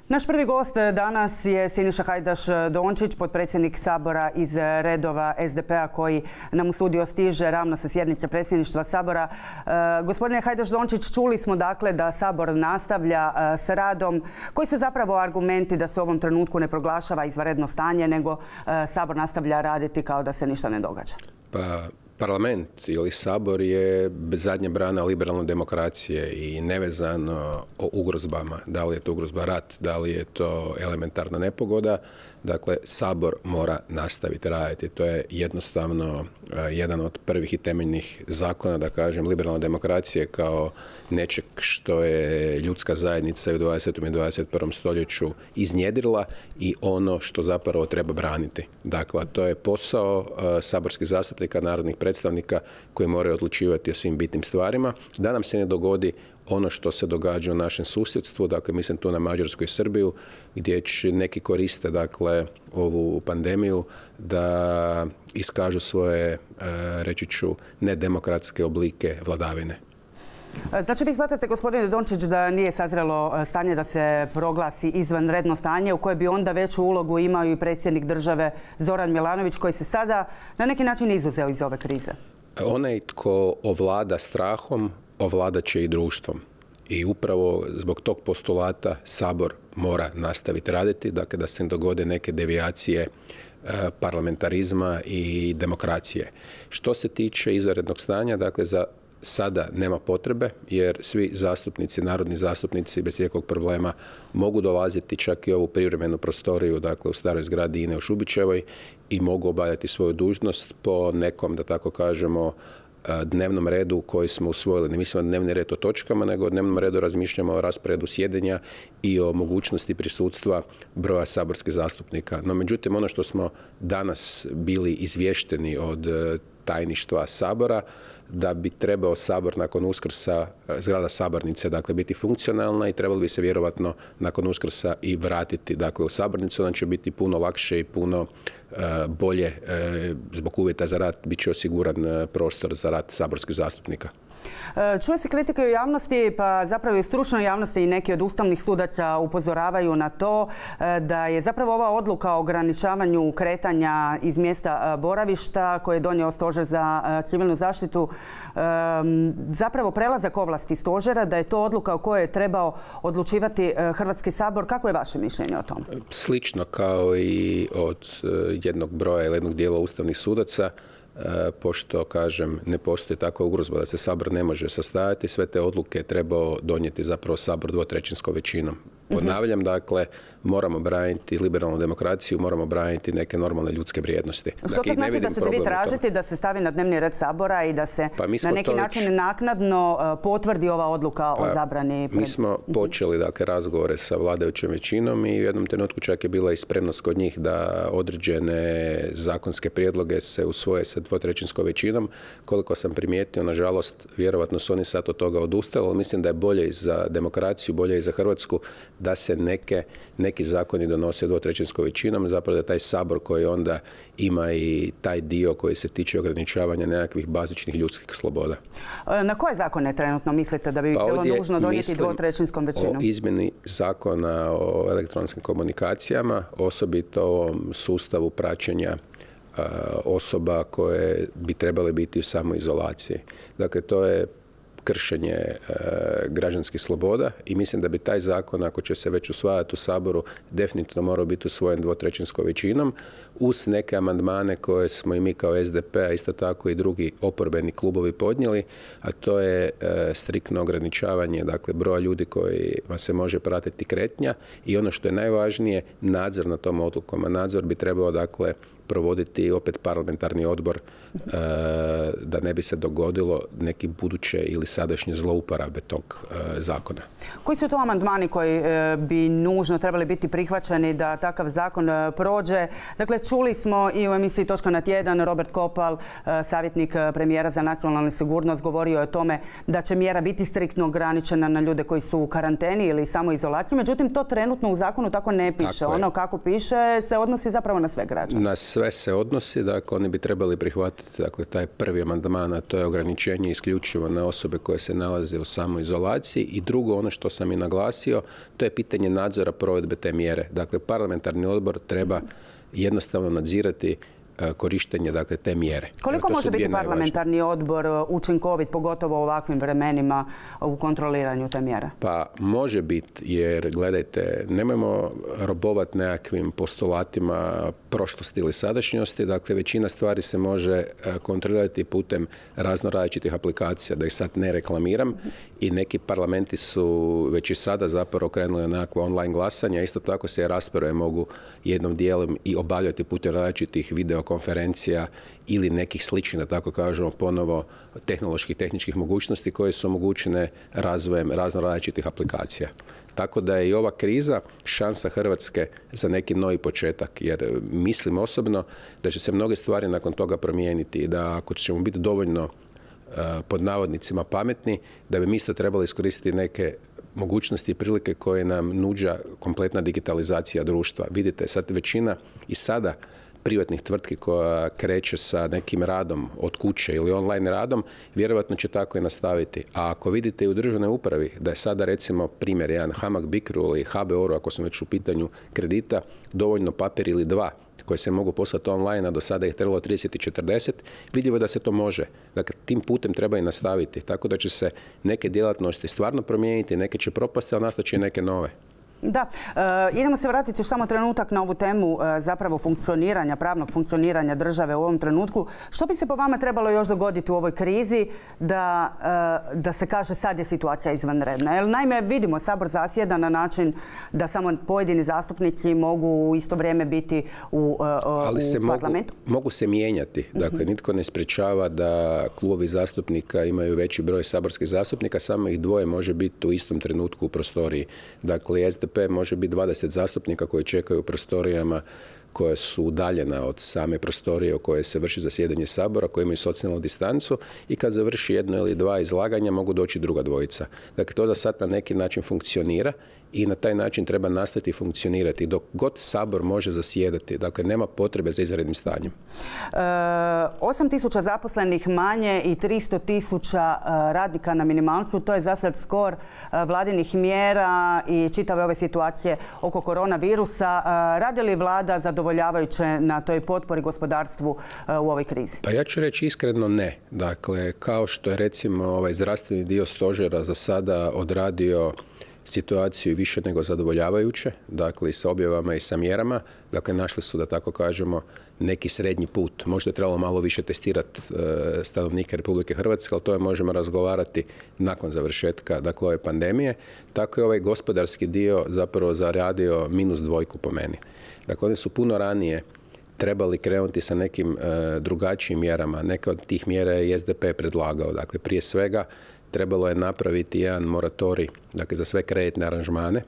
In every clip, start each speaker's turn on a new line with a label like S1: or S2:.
S1: Naš prvi gost danas je Siniša Hajdaš Dončić, potpredsjednik Sabora iz redova SDP-a koji nam u studio stiže ravno sa sjednice predsjedništva Sabora. Gospodine Hajdaš Dončić, čuli smo dakle da Sabor nastavlja s radom. Koji su zapravo argumenti da se u ovom trenutku ne proglašava izvanredno stanje, nego Sabor nastavlja raditi kao da se ništa ne događa?
S2: Pa, Parlament ili Sabor je zadnja brana liberalne demokracije i nevezano o ugrozbama. Da li je to ugrozba rat, da li je to elementarna nepogoda. Dakle, Sabor mora nastaviti raditi. To je jednostavno jedan od prvih i temeljnih zakona, da kažem, liberalne demokracije kao nečeg što je ljudska zajednica u 20. i 21. stoljeću iznjedrila i ono što zapravo treba braniti. Dakle, to je posao saborskih zastupnika, narodnih predstavnika koji moraju odlučivati o svim bitnim stvarima. Da nam se ne dogodi ono što se događa u našem susjedstvu, dakle mislim tu na Mađarsku i Srbiju, gdje će neki koriste dakle ovu pandemiju da iskažu svoje, reći ću, nedemokratske oblike vladavine.
S1: Znači vi smatrate, gospodine Dončić, da nije sazrelo stanje da se proglasi izvanredno stanje u koje bi onda veću ulogu imao i predsjednik države Zoran Milanović koji se sada na neki način izuzeo iz ove krize?
S2: Onaj tko ovlada strahom, ovladat će i društvom. I upravo zbog tog postulata Sabor mora nastaviti raditi, dakle da se ne dogode neke devijacije parlamentarizma i demokracije. Što se tiče izvanrednog stanja, dakle za sada nema potrebe jer svi zastupnici, narodni zastupnici bez ikakvog problema mogu dolaziti čak i ovu privremenu prostoriju, dakle u staroj zgradi INE u Šubićevoj i mogu obavljati svoju dužnost po nekom, da tako kažemo, dnevnom redu koji smo usvojili. Ne mislimo dnevni red o točkama, nego o dnevnom redu razmišljamo o rasporedu sjedenja i o mogućnosti prisutstva broja saborskih zastupnika. No, međutim, ono što smo danas bili izvješteni od tajništva Sabora, da bi trebao Sabor nakon Uskrsa, zgrada sabornice, dakle, biti funkcionalna i trebalo bi se vjerovatno nakon Uskrsa i vratiti, dakle, u sabornicu. Onda će biti puno lakše i puno bolje zbog uvjeta za rad, bit će osiguran prostor za rad saborskih zastupnika.
S1: Čuje se kritike u javnosti, pa zapravo i u stručnoj javnosti i neki od ustavnih sudaca upozoravaju na to da je zapravo ova odluka o ograničavanju kretanja iz mjesta boravišta koje je donio Stožer za civilnu zaštitu zapravo prelazak ovlasti stožera, da je to odluka o kojoj je trebao odlučivati Hrvatski sabor. Kako je vaše mišljenje o tom?
S2: Slično kao i od jednog broja ili jednog dijela ustavnih sudaca, pošto, kažem, ne postoji takva ugrozba da se Sabor ne može sastajati, sve te odluke je trebao donijeti zapravo Sabor dvotrećinskom većinom. Ponavljam, dakle, moramo braniti liberalnu demokraciju, moramo braniti neke normalne ljudske vrijednosti.
S1: Što to znači da ćete vi tražiti da se stavi na dnevni red Sabora i da se na neki način naknadno potvrdi ova odluka o zabrani?
S2: Mi smo počeli, dakle, razgovore sa vladajućom većinom i u jednom trenutku čak je bila i spremnost kod njih da određene zakonske prijedloge se usvoje sa dvotrećinskom većinom. Koliko sam primijetio, nažalost, vjerovatno su oni sad od toga odustali, ali mislim da je bolje i za demokraciju, bolje i za Hrvatsku da se neki zakoni donose dvotrećinskom većinom, zapravo da taj Sabor koji onda ima i taj dio koji se tiče ograničavanja nekakvih bazičnih ljudskih sloboda.
S1: Na koje zakone trenutno mislite da bi bilo nužno donijeti dvotrećinskom većinom?
S2: O izmjeni zakona o elektronskim komunikacijama, osobito o ovom sustavu praćenja osoba koje bi trebale biti u samoizolaciji. Dakle, to je kršenje građanskih sloboda i mislim da bi taj zakon, ako će se već usvajati u Saboru, definitivno morao biti usvojen dvotrećinskom većinom uz neke amandmane koje smo i mi kao SDP, a isto tako i drugi oporbeni klubovi podnijeli, a to je striktno ograničavanje, dakle, broja ljudi kojima se može pratiti kretnja i ono što je najvažnije, nadzor nad tom odlukom. A nadzor bi trebao, dakle, provoditi opet parlamentarni odbor da ne bi se dogodilo neki buduće ili sadašnje zlouporabe tog zakona.
S1: Koji su to amandmani koji bi nužno trebali biti prihvaćeni da takav zakon prođe? Dakle, čuli smo i u emisiji Točka na tjedan, Robert Kopal, savjetnik premijera za nacionalnu sigurnost, govorio je o tome da će mjera biti striktno ograničena na ljude koji su u karanteni ili samoizolaciji. Međutim, to trenutno u zakonu tako ne piše. Ono kako piše se odnosi zapravo na sve građane.
S2: Na sve se odnosi, dakle oni bi trebali prihvatiti dakle, taj prvi amandman, a to je ograničenje isključivo na osobe koje se nalaze u samoizolaciji i drugo, ono što sam i naglasio, to je pitanje nadzora provedbe te mjere. Dakle, parlamentarni odbor treba jednostavno nadzirati korištenje dakle, te mjere.
S1: Koliko može biti parlamentarni odbor učinkovit, pogotovo u ovakvim vremenima, u kontroliranju te mjere?
S2: Pa može biti, jer gledajte, nemojmo robovati nekakvim postulatima prošlosti ili sadašnjosti. Dakle, većina stvari se može kontrolirati putem razno različitih aplikacija, da ih sad ne reklamiram. I neki parlamenti su već i sada zapravo krenuli na nekakvo online glasanje. Isto tako se rasprave mogu jednom dijelom i obavljati putem različitih videokonferencija ili nekih sličnih, da tako kažemo, ponovo tehničkih mogućnosti koje su omogućene razvojem razno različitih aplikacija. Tako da je i ova kriza šansa Hrvatske za neki novi početak, jer mislim osobno da će se mnoge stvari nakon toga promijeniti i da ako ćemo biti dovoljno pod navodnicima pametni, da bi mi isto trebali iskoristiti neke mogućnosti i prilike koje nam nuđa kompletna digitalizacija društva. Vidite, sad većina i sada privatnih tvrtki koja kreće sa nekim radom od kuće ili online radom, vjerojatno će tako i nastaviti. A ako vidite i u državnoj upravi da je sada recimo primjer jedan HAMAG Bicro ili HBOR, ako smo već u pitanju kredita, dovoljno papir ili dva koje se mogu poslati online, a do sada ih trebalo 30 i 40, vidljivo je da se to može. Dakle, tim putem treba i nastaviti. Tako da će se neke djelatnosti stvarno promijeniti, neke će propasti, ali nastat će i neke nove.
S1: Da, idemo se vratiti još samo trenutak na ovu temu zapravo funkcioniranja, pravnog funkcioniranja države u ovom trenutku. Što bi se po vama trebalo još dogoditi u ovoj krizi da se kaže sad je situacija izvanredna? Jer naime vidimo, Sabor zasjeda na način da samo pojedini zastupnici mogu u isto vrijeme biti u parlamentu.
S2: Mogu se mijenjati. Dakle, nitko ne sprečava da klubovi zastupnika imaju veći broj saborskih zastupnika, samo ih dvoje može biti u istom trenutku u prostoriji. Dakle, SDP može biti 20 zastupnika koji čekaju u prostorijama koja su udaljena od same prostorije u kojoj se vrši zasjedanje Sabora, koji imaju socijalnu distancu i kad završi jedno ili dva izlaganja mogu doći druga dvojica. Dakle, to za sad na neki način funkcionira i na taj način treba nastaviti funkcionirati dok god Sabor može zasjedati. Dakle, nema potrebe za izvanrednim stanjem.
S1: 8.000 zaposlenih manje i 300.000 radnika na minimalcu, to je za sad skor vladinih mjera i čitave ove situacije oko koronavirusa. Radi li vlada zadovoljavajuće na toj potpori gospodarstvu u ovoj krizi?
S2: Pa ja ću reći iskreno ne. Dakle, kao što je recimo ovaj zdravstveni dio stožera za sada odradio situaciju više nego zadovoljavajuće, dakle i sa objavama i sa mjerama. Dakle, našli su, da tako kažemo, neki srednji put. Možda je trebalo malo više testirati stanovnike Republike Hrvatske, ali to je možemo razgovarati nakon završetka dakle, ove pandemije. Tako je ovaj gospodarski dio zapravo zaradio -2 po meni. Dakle, oni su puno ranije trebali krenuti sa nekim drugačijim mjerama. Neke od tih mjera je SDP predlagao. Dakle, prije svega trebalo je napraviti jedan moratorij, dakle, za sve kreditne aranžmane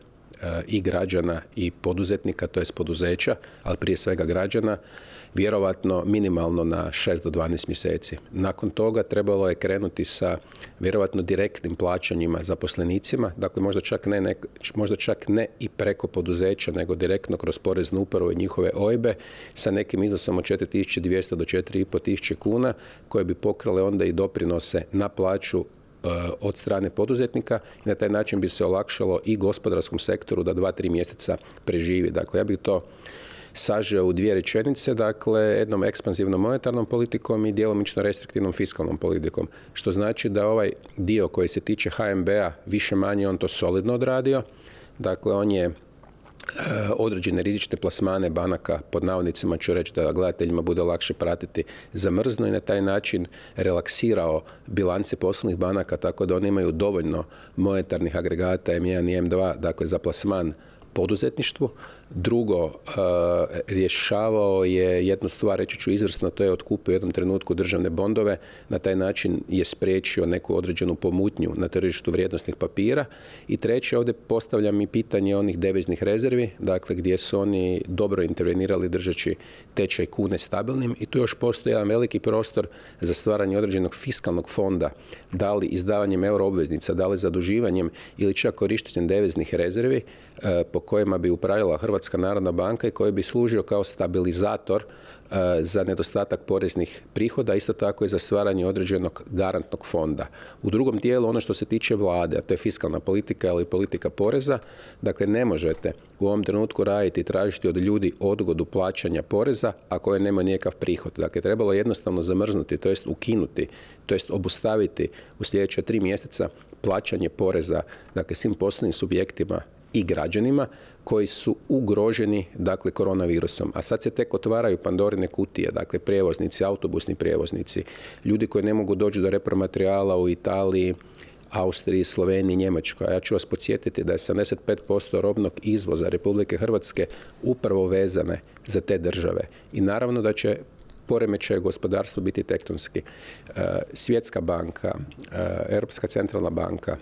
S2: i građana i poduzetnika, to jest poduzeća, ali prije svega građana, vjerovatno minimalno na 6 do 12 mjeseci. Nakon toga trebalo je krenuti sa vjerovatno direktnim plaćanjima zaposlenicima, dakle možda čak ne i preko poduzeća, nego direktno kroz poreznu upravu i njihove OIB-e sa nekim iznosom od 4.200 do 4.500 kuna koje bi pokrale onda i doprinose na plaću od strane poduzetnika i na taj način bi se olakšalo i gospodarskom sektoru da 2-3 mjeseca preživi. Dakle, ja bih to sažeo u 2 rečenice, dakle, jednom ekspanzivnom monetarnom politikom i djelomično restriktivnom fiskalnom politikom, što znači da ovaj dio koji se tiče HNB-a više manje on to solidno odradio. Dakle, on je određene rizične plasmane banaka, pod navodnicima ću reći da gledateljima bude lakše pratiti, zamrzno i na taj način relaksirao bilance poslovnih banaka tako da oni imaju dovoljno monetarnih agregata M1 i M2, dakle za plasman poduzetništvu. Drugo, rješavao je jednu stvar, reći ću izvrsno, to je otkupio u jednom trenutku državne bondove, na taj način je spriječio neku određenu pomutnju na tržištu vrijednosnih papira. I treće, ovdje postavljam i pitanje onih deviznih rezervi, dakle gdje su oni dobro intervenirali držeći tečaj kune stabilnim i tu još postoji jedan veliki prostor za stvaranje određenog fiskalnog fonda, da li izdavanjem euro obveznica, da li zaduživanjem ili čak korištenjem deviznih rezervi, po kojima bi upravljala Hrvatska narodna banka i koji bi služio kao stabilizator za nedostatak poreznih prihoda, isto tako i za stvaranje određenog garantnog fonda. U drugom dijelu, ono što se tiče vlade, a to je fiskalna politika ili politika poreza, dakle ne možete u ovom trenutku raditi i tražiti od ljudi odgodu plaćanja poreza, a koje nema nikakav prihod. Dakle, trebalo jednostavno zamrznuti, to jest ukinuti, to jest obustaviti u sljedeća 3 mjeseca plaćanje poreza, dakle svim poslovnim subjektima i građanima koji su ugroženi, dakle, koronavirusom. A sad se tek otvaraju Pandorine kutije, dakle, prijevoznici, autobusni prijevoznici, ljudi koji ne mogu doći do repromaterijala u Italiji, Austriji, Sloveniji, Njemačkoj. A ja ću vas podsjetiti da je 75% robnog izvoza Republike Hrvatske upravo vezane za te države. I naravno da će poremećaj gospodarstva biti tektonski. Svjetska banka, Europska centralna banka,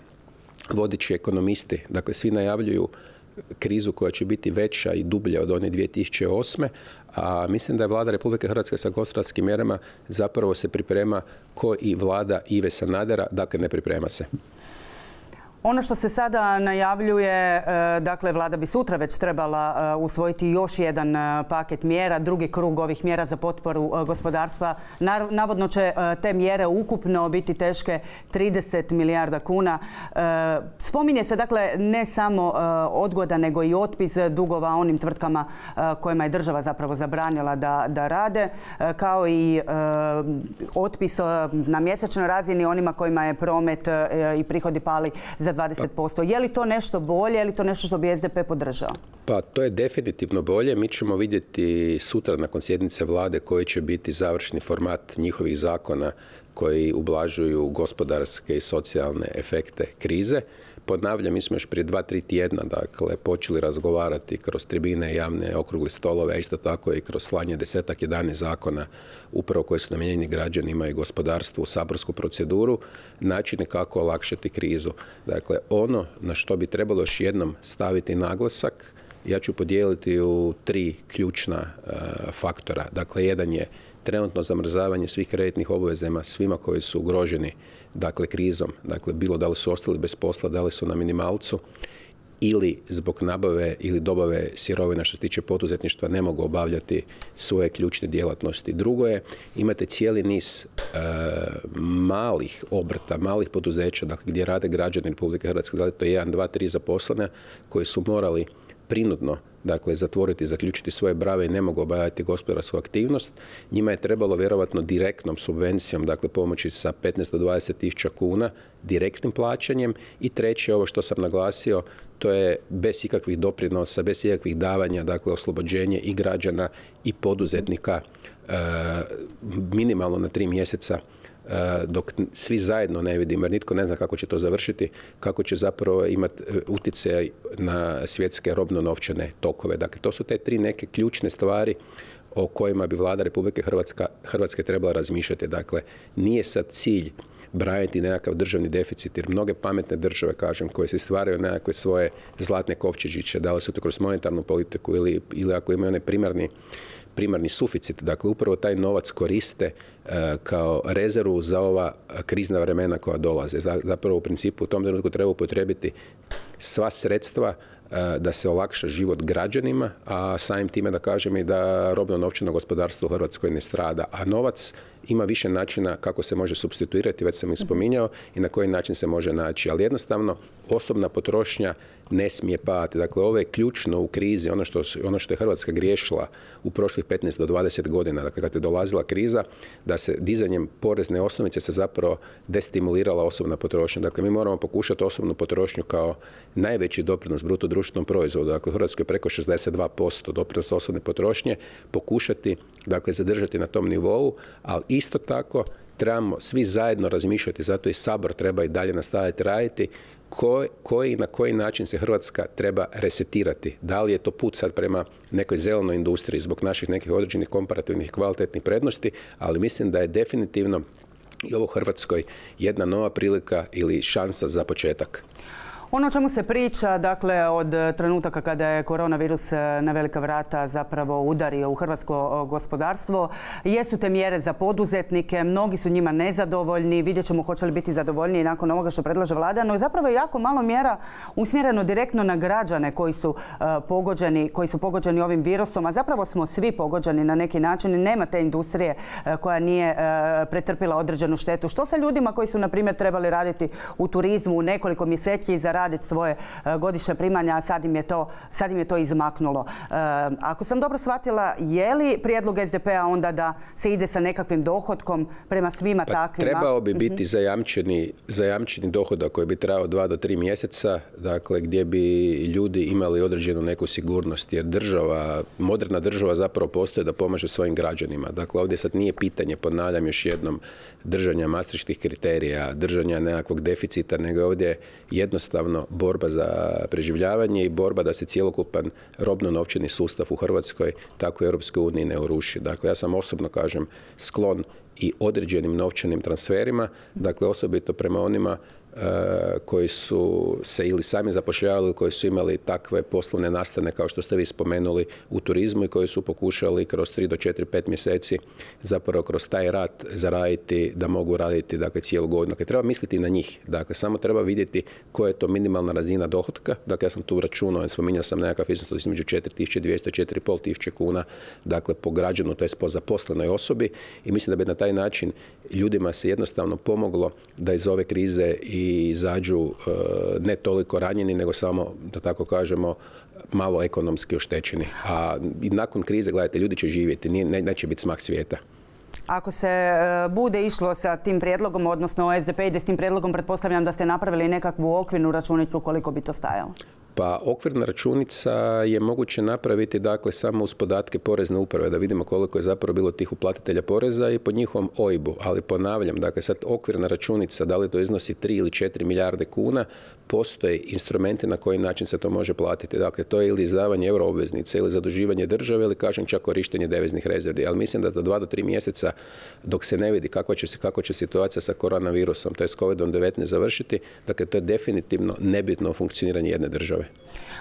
S2: vodeći ekonomisti, dakle svi najavljuju krizu koja će biti veća i dublja od one 2008. A mislim da je vlada Republike Hrvatske sa gospodarskim mjerama zapravo se priprema ko i vlada Ive Sanadera, dakle ne priprema se.
S1: Ono što se sada najavljuje, dakle vlada bi sutra već trebala usvojiti još jedan paket mjera, drugi krug ovih mjera za potporu gospodarstva. Navodno će te mjere ukupno biti teške 30 milijarda kuna. Spominje se dakle ne samo odgoda nego i otpis dugova onim tvrtkama kojima je država zapravo zabranila da rade, kao i otpis na mjesečnoj razini onima kojima je promet i prihodi pali za 20%. Je li to nešto bolje, je li to nešto što bi SDP podržao?
S2: Pa to je definitivno bolje. Mi ćemo vidjeti sutra nakon sjednice vlade koji će biti završni format njihovih zakona koji ublažuju gospodarske i socijalne efekte krize. Ponavljam, mi smo još prije 2-3 tjedna dakle, počeli razgovarati kroz tribine, javne okrugle stolove, a isto tako i kroz slanje 10-11 zakona upravo koji su namijenjeni građanima i gospodarstvu u saborsku proceduru, načine kako olakšati krizu. Dakle, ono na što bi trebalo još jednom staviti naglasak, ja ću podijeliti u 3 ključna faktora. Dakle, jedan je trenutno zamrzavanje svih kreditnih obvezama svima koji su ugroženi dakle krizom, dakle bilo da li su ostali bez posla, da li su na minimalcu ili zbog nabave ili dobave sirovina što se tiče poduzetništva ne mogu obavljati svoje ključne djelatnosti. Drugo je, imate cijeli niz malih obrta, malih poduzeća, dakle gdje rade građani Republike Hrvatske, da li to je 1, 2, 3 zaposlene koji su morali prinudno dakle zatvoriti, zaključiti svoje brave i ne mogu obavljati gospodarsku aktivnost. Njima je trebalo vjerovatno direktnom subvencijom, dakle pomoći sa 15 do 20 tisuća kuna, direktnim plaćanjem. I treće, ovo što sam naglasio, to je bez ikakvih doprinosa, bez ikakvih davanja, dakle oslobođenje i građana i poduzetnika minimalno na 3 mjeseca dok svi zajedno ne vidimo, jer nitko ne zna kako će to završiti, kako će zapravo imati utjecaj na svjetske robno-novčane tokove. Dakle, to su te 3 neke ključne stvari o kojima bi vlada Republike Hrvatske trebala razmišljati. Dakle, nije sad cilj braniti nekakav državni deficit, jer mnoge pametne države, kažem, koje se stvaraju nekakve svoje zlatne kovčežiće, da li su to kroz monetarnu politiku ili ako imaju onaj primarni suficit, dakle upravo taj novac koriste kao rezervu za ova krizna vremena koja dolaze. Zapravo u principu u tom trenutku treba upotrijebiti sva sredstva da se olakša život građanima, a samim time da kažem i da robno-novčano gospodarstvo u Hrvatskoj ne strada. A novac ima više načina kako se može supstituirati, već sam i spominjao, i na koji način se može naći. Ali jednostavno osobna potrošnja ne smije padati. Dakle, ovo je ključno u krizi, ono što je Hrvatska griješila u prošlih 15 do 20 godina, dakle kad je dolazila kriza, da se dizanjem porezne osnovice se zapravo destimulirala osobna potrošnja. Dakle, mi moramo pokušati osobnu potrošnju kao najveći doprinos bruto društvenom proizvodu, dakle u Hrvatskoj je preko 62% doprinos osobne potrošnje, pokušati dakle zadržati na tom nivou, ali isto tako trebamo svi zajedno razmišljati, zato i Sabor treba i dalje nastaviti raditi, na koji način se Hrvatska treba resetirati. Da li je to put sad prema nekoj zelenoj industriji zbog naših nekih određenih komparativnih kvalitetnih prednosti, ali mislim da je definitivno i ovo Hrvatskoj jedna nova prilika ili šansa za početak.
S1: Ono o čemu se priča, dakle, od trenutaka kada je koronavirus na velika vrata zapravo udario u hrvatsko gospodarstvo, jesu te mjere za poduzetnike, mnogi su njima nezadovoljni, vidjet ćemo hoće li biti zadovoljniji nakon ovoga što predlaže vlada, no zapravo je jako malo mjera usmjereno direktno na građane koji su pogođeni ovim virusom, a zapravo smo svi pogođeni na neki način i nema te industrije koja nije pretrpila određenu štetu. Što sa ljudima koji su, na primjer, trebali raditi u turizmu u nekoliko mjeseci i zaraditi svoje godišnje primanja, a sad im je to izmaknulo. Ako sam dobro shvatila, je li prijedlog SDP-a onda da se ide sa nekakvim dohotkom prema svima takvima?
S2: Trebao bi biti zajamčeni dohodak koji bi trajao 2 do 3 mjeseca, dakle gdje bi ljudi imali određenu neku sigurnost, jer moderna država zapravo postoji da pomaže svojim građanima. Dakle, ovdje sad nije pitanje, ponavljam još jednom, držanja maastrichtskih kriterija, držanja nekakvog deficita, nego ovdje jednostavno borba za preživljavanje i borba da se cjelokupan robno-novčani sustav u Hrvatskoj, tako i Europskoj uniji, ne uruši. Dakle, ja sam osobno, kažem, sklon i određenim novčanim transferima, dakle osobito prema onima koji su se ili sami zapošljavali, koji su imali takve poslovne nastane kao što ste vi spomenuli u turizmu i koji su pokušali kroz 3 do 4, 5 mjeseci zapravo kroz taj rad zaraditi da mogu raditi, dakle, cijelu godinu. Dakle, treba misliti na njih. Dakle, samo treba vidjeti koja je to minimalna razina dohotka. Dakle, ja sam tu računao, spominjao sam nekakav iznos između 4.200 i 4.500 kuna, dakle, po građanu, to je po zaposlenoj osobi, i mislim da bi na taj način ljudima se jednostavno pomoglo da iz ove krize i izađu ne toliko ranjeni, nego samo, da tako kažemo, malo ekonomski oštećeni. A i nakon krize, gledajte, ljudi će živjeti, neće biti smak svijeta.
S1: Ako se bude išlo sa tim prijedlogom, odnosno SDP ide s tim prijedlogom, pretpostavljam da ste napravili nekakvu okvirnu računicu koliko bi to stajalo.
S2: Pa okvirna računica je moguće napraviti, dakle, samo uz podatke Porezne uprave, da vidimo koliko je zapravo bilo tih uplatitelja poreza i po njihovom OIB-u. Ali ponavljam, dakle, sad okvirna računica, da li to iznosi 3 ili 4 milijarde kuna, postoje instrumenti na koji način se to može platiti. Dakle, to je ili izdavanje euroobveznice ili zaduživanje države ili, kažem, čak korištenje deviznih rezervi. Ali mislim da za 2 do 3 mjeseca, dok se ne vidi kako će situacija sa koronavirusom, to je s COVID-19 završiti, dakle, to je definitivno nebitno funkcioniranje jedne države.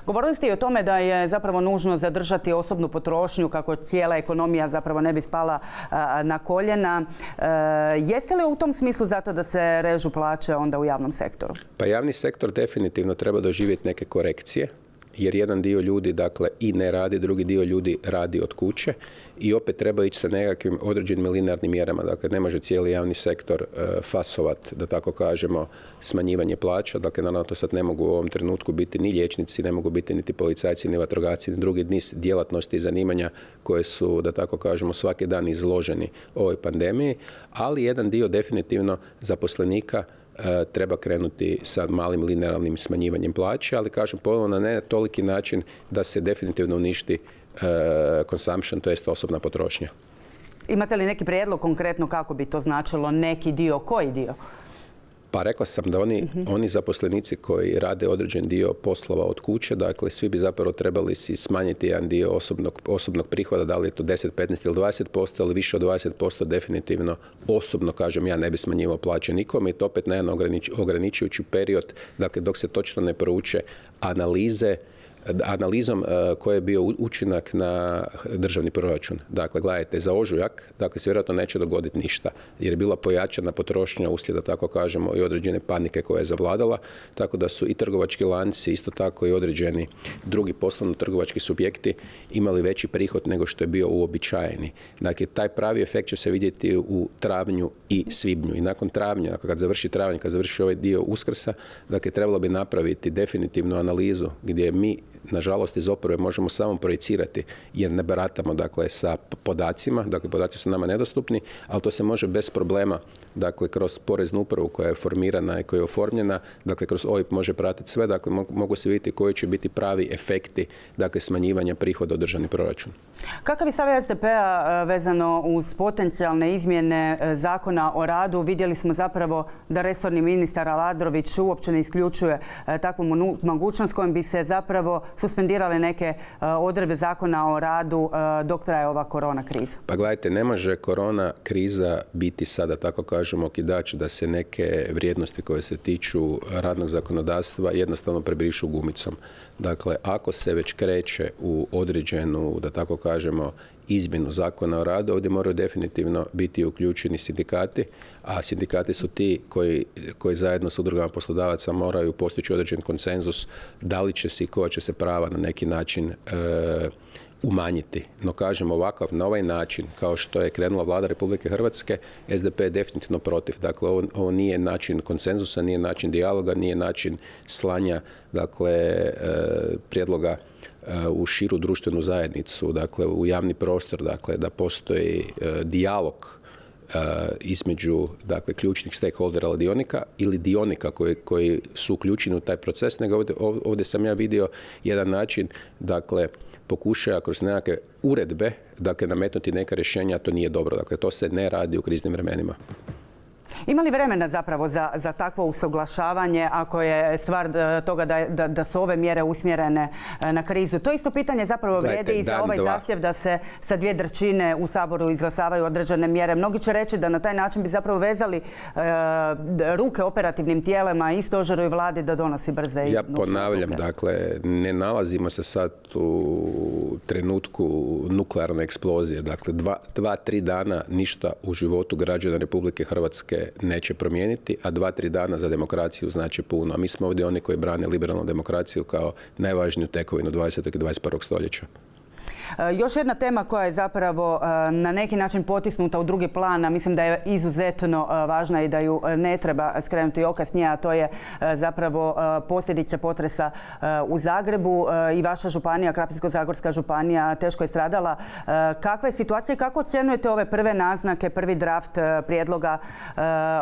S1: Govorili ste i o tome da je zapravo nužno zadržati osobnu potrošnju kako cijela ekonomija zapravo ne bi spala na koljena. Jeste li u tom smislu zato da se režu plaće onda u javnom sektoru?
S2: Pa javni sektor definitivno treba doživjeti neke korekcije, jer jedan dio ljudi, dakle, i ne radi, drugi dio ljudi radi od kuće i opet treba ići sa nekakvim određenim linearnim mjerama. Dakle, ne može cijeli javni sektor fasovat, da tako kažemo, smanjivanje plaća. Dakle, naravno, to sad ne mogu u ovom trenutku biti ni liječnici, ne mogu biti niti policajci, ni vatrogasci, ni drugi niz djelatnosti i zanimanja koje su, da tako kažemo, svaki dan izloženi ovoj pandemiji, ali jedan dio definitivno zaposlenika treba krenuti sa malim linearnim smanjivanjem plaće, ali, kažem, ponovno na ne toliki način da se definitivno uništi consumption, to jest osobna potrošnja.
S1: Imate li neki prijedlog konkretno kako bi to značilo neki dio, koji dio?
S2: Pa rekao sam da oni zaposlenici koji rade određen dio poslova od kuće, dakle, svi bi zapravo trebali si smanjiti jedan dio osobnog prihoda, da li je to 10, 15 ili 20%, ali više od 20% definitivno osobno, kažem, ja ne bi smanjivao plaće nikome, i to opet na jedan ograničujući period, dakle, dok se točno ne prouče analizom koji je bio učinak na državni proračun. Dakle, gledajte, za ožujak, dakle, se vjerojatno neće dogoditi ništa, jer je bila pojačana potrošnja uslijed, da tako kažemo, i određene panike koja je zavladala, tako da su i trgovački lanci, isto tako i određeni drugi poslovno-trgovački subjekti imali veći prihod nego što je bio uobičajeni. Dakle, taj pravi efekt će se vidjeti u travnju i svibnju. I nakon travnja, dakle, kad završi travanj, kad završi ovaj dio Uskrsa, dakle, trebalo bi napraviti definitivnu analizu gdje mi, nažalost, iz oporbe možemo samo projicirati, jer ne baratamo, dakle, sa podacima, dakle, podaci su nama nedostupni, ali to se može bez problema, dakle, kroz Poreznu upravu koja je formirana i koja je oformljena, dakle, kroz OIB može pratiti sve, dakle, mogu se vidjeti koji će biti pravi efekti, dakle, smanjivanja prihoda u državni proračun.
S1: Kakav je stav SDP-a vezano uz potencijalne izmjene zakona o radu? Vidjeli smo zapravo da resorni ministar Aladrović uopće ne isključuje takvu mogućnost kojom bi se zapravo suspendirale neke odredbe zakona o radu dok traje ova korona kriza.
S2: Pa gledajte, ne može korona kriza biti sada, tako kažemo, okidač da se neke vrijednosti koje se tiču radnog zakonodavstva jednostavno prebrišu gumicom. Dakle, ako se već kreće u određenu, da tako kažemo, izmjenu zakona o radu, ovdje moraju definitivno biti uključeni sindikati, a sindikati su ti koji zajedno s udrugama poslodavaca moraju postići određen konsenzus da li će se i koja će se prava na neki način umanjiti. No kažem ovakav, na ovaj način, kao što je krenula vlada Republike Hrvatske, SDP je definitivno protiv. Dakle, ovo nije način konsenzusa, nije način dijaloga, nije način slanja, dakle, prijedloga u širu društvenu zajednicu, dakle, u javni prostor, dakle, da postoji dijalog između, dakle, ključnih stakeholdera ili dionika koji su uključeni u taj proces, nego ovdje sam ja vidio jedan način, dakle, pokušaja kroz nekakve uredbe, dakle, nametnuti neka rješenja, to nije dobro. Dakle, to se ne radi u kriznim vremenima.
S1: Ima li vremena zapravo za takvo usuglašavanje ako je stvar toga da su ove mjere usmjerene na krizu? To isto pitanje zapravo vrijedi i za ovaj zahtjev da se sa 2/3 u Saboru izglasavaju određene mjere. Mnogi će reći da na taj način bi zapravo vezali ruke operativnim tijelima i stožeru i vladi da donosi brze i nužne odluke. Ja ponavljam,
S2: dakle, ne nalazimo se sad u trenutku nuklearne eksplozije. Dakle, 2-3 dana ništa u životu građana Republike Hrvatske neće promijeniti, a 2-3 dana za demokraciju znači puno. A mi smo ovdje oni koji brane liberalnu demokraciju kao najvažniju tekovinu 20. i 21. stoljeća.
S1: Još jedna tema koja je zapravo na neki način potisnuta u drugi plan, a mislim da je izuzetno važna i da ju ne treba skrenuti oka s nje, a to je zapravo posljedice potresa u Zagrebu. I vaša županija, Krapinsko-zagorska županija, teško je stradala. Kakva je situacija i kako ocjenjujete ove prve naznake, prvi draft prijedloga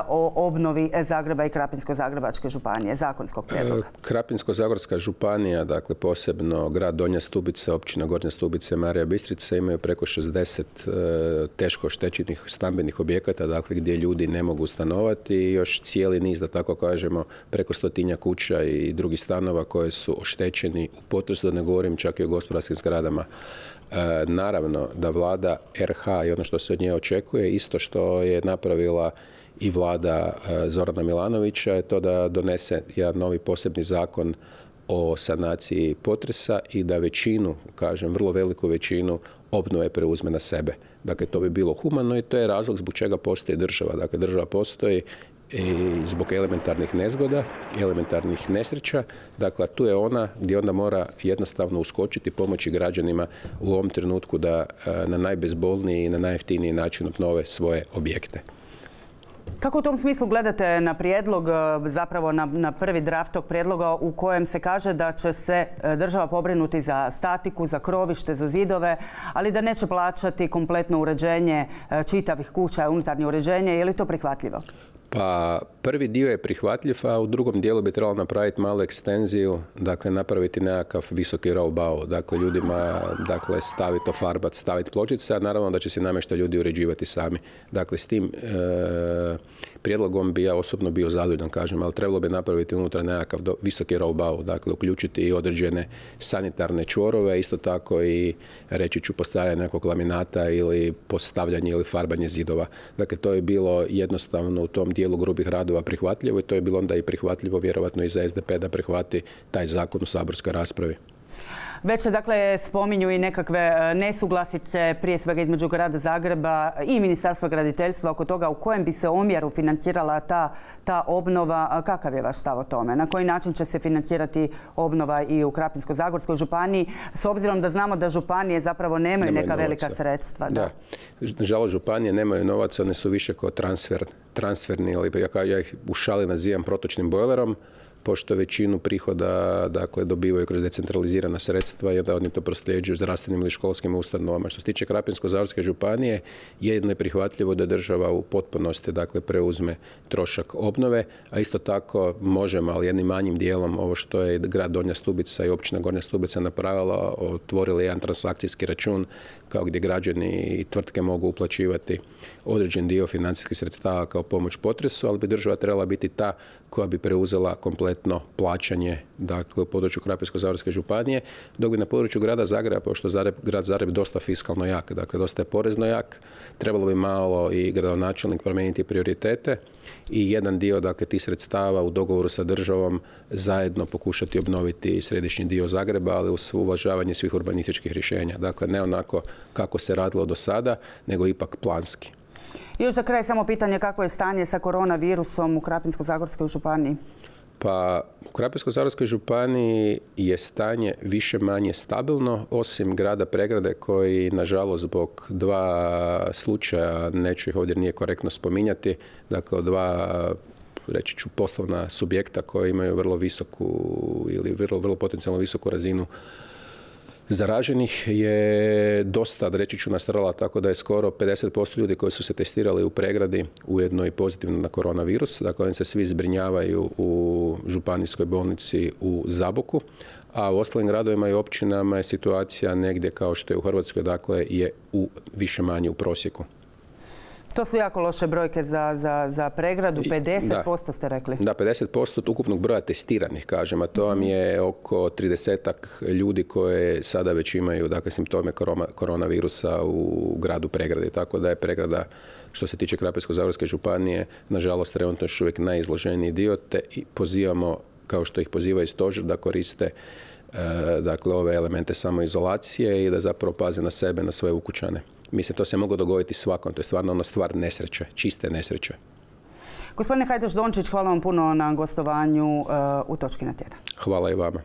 S1: o obnovi Zagreba i Krapinsko-zagrebačke županije, zakonskog prijedloga?
S2: Krapinsko-zagorska županija, dakle posebno grad Donja Stubica, općina Gornja Stubica, Marija Bistrica imaju preko 60 teško oštećenih stambenih objekata, dakle gdje ljudi ne mogu stanovati i još cijeli niz, da tako kažemo, preko 100 kuća i drugih stanova koje su oštećeni u potresu, da ne govorim čak i o gospodarskim zgradama. Naravno da vlada RH i ono što se od nje očekuje, isto što je napravila i vlada Zorana Milanovića, je to da donese jedan novi posebni zakon o sanaciji potresa i da većinu, kažem, vrlo veliku većinu obnove preuzme na sebe. Dakle, to bi bilo humano i to je razlog zbog čega postoji država. Dakle, država postoji i zbog elementarnih nezgoda, elementarnih nesreća. Dakle, tu je ona gdje onda mora jednostavno uskočiti, pomoći građanima u ovom trenutku da na najbezbolniji i na najjeftiniji način obnove svoje objekte.
S1: Kako u tom smislu gledate na prijedlog, zapravo na prvi draft tog prijedloga u kojem se kaže da će se država pobrinuti za statiku, za krovište, za zidove, ali da neće plaćati kompletno uređenje čitavih kuća, unutarnje uređenje? Je li to prihvatljivo?
S2: Pa prvi dio je prihvatljiv, a u drugom dijelu bi trebalo napraviti malu ekstenziju, dakle napraviti nekakav visoki roll-bow, dakle ljudima, dakle staviti ofarbat, staviti pločice, a naravno da će se namještaj ljudi uređivati sami. Dakle, s tim prijedlogom bi ja osobno bio zadovoljan, kažem, ali trebalo bi napraviti unutra nekakav visoki roll-bow, dakle uključiti i određene sanitarne čvorove, isto tako i reći ću postavljanje nekog laminata ili postavljanje ili farbanje zidova. Dakle, to je bilo jednostavno u tom dijelu grubih radova prihvatljivo i to je bilo onda i prihvatljivo vjerovatno i za SDP da prihvati taj zakon u saborskoj raspravi.
S1: Već se dakle spominju i nekakve nesuglasice, prije svega između grada Zagreba i Ministarstva graditeljstva oko toga u kojem bi se omjeru financirala ta obnova. Kakav je vaš stav o tome? Na koji način će se financirati obnova i u Krapinsko-zagorskoj županiji, s obzirom da znamo da županije zapravo nemaju neka velika sredstva?
S2: Da. Nažalost, županije nemaju novaca, one su više kao transferni, ali ja ih u šali nazivam protočnim bojlerom. pošto većinu prihoda dakle, dobivaju kroz decentralizirana sredstva i onda oni to prosljeđuju zdravstvenim ili školskim ustanovama. Što se tiče Krapinsko-zagorske županije, jedino je prihvatljivo da država u potpunosti dakle, preuzme trošak obnove, a isto tako možemo, ali jednim manjim dijelom, ovo što je grad Donja Stubica i općina Gornja Stubica napravila, otvorili jedan transakcijski račun kao gdje građani i tvrtke mogu uplaćivati određen dio financijskih sredstava kao pomoć potresu, ali bi država trebala biti ta koja bi preuzela kompletno plaćanje dakle, u području Krapinsko-zagorske županije, dok bi na području grada Zagreba, pošto grad Zagreb dosta fiskalno jak, dakle dosta je porezno jak, trebalo bi malo i gradonačelnik promijeniti prioritete i jedan dio dakle, tih sredstava u dogovoru sa državom zajedno pokušati obnoviti središnji dio Zagreba, ali uz uvažavanje svih urbanističkih rješenja. Dakle, ne onako kako se radilo do sada, nego ipak planski.
S1: Još za kraj samo pitanje kako je stanje sa koronavirusom u Krapinsko-zagorskoj županiji?
S2: Pa u Krapinsko-zagorskoj županiji je stanje više manje stabilno, osim grada Pregrade koji, nažalost, zbog dva slučaja, neću ih ovdje nije korektno spominjati, dakle dva, reći ću, poslovna subjekta koji imaju vrlo visoku ili vrlo potencijalno visoku razinu zaraženih je dosta, reći ću, nastradala, tako da je skoro 50% ljudi koji su se testirali u Pregradi ujedno i pozitivno na koronavirus. Dakle, oni se svi zbrinjavaju u županijskoj bolnici u Zaboku, a u ostalim gradovima i općinama je situacija negdje kao što je u Hrvatskoj, dakle je više manje u prosjeku.
S1: To su jako loše brojke za Pregradu, 50% ste rekli. Da,
S2: 50% ukupnog broja testiranih, kažem, a to vam je oko 30-ak ljudi koje sada već imaju dakle, simptome koronavirusa u gradu Pregradi. Tako da je Pregrada, što se tiče Krapinsko-zagorske županije, nažalost trenutno još uvijek najizloženiji dio, te i pozivamo, kao što ih poziva i stožer, da koriste dakle, ove elemente samoizolacije i da zapravo paze na sebe, na svoje ukućane. Mislim, to se moglo dogoditi svakom. To je stvarno ono stvar nesreće, čiste nesreće.
S1: Gospodine Hajdaš Dončić, hvala vam puno na gostovanju u Točki na tjedan.
S2: Hvala i vama.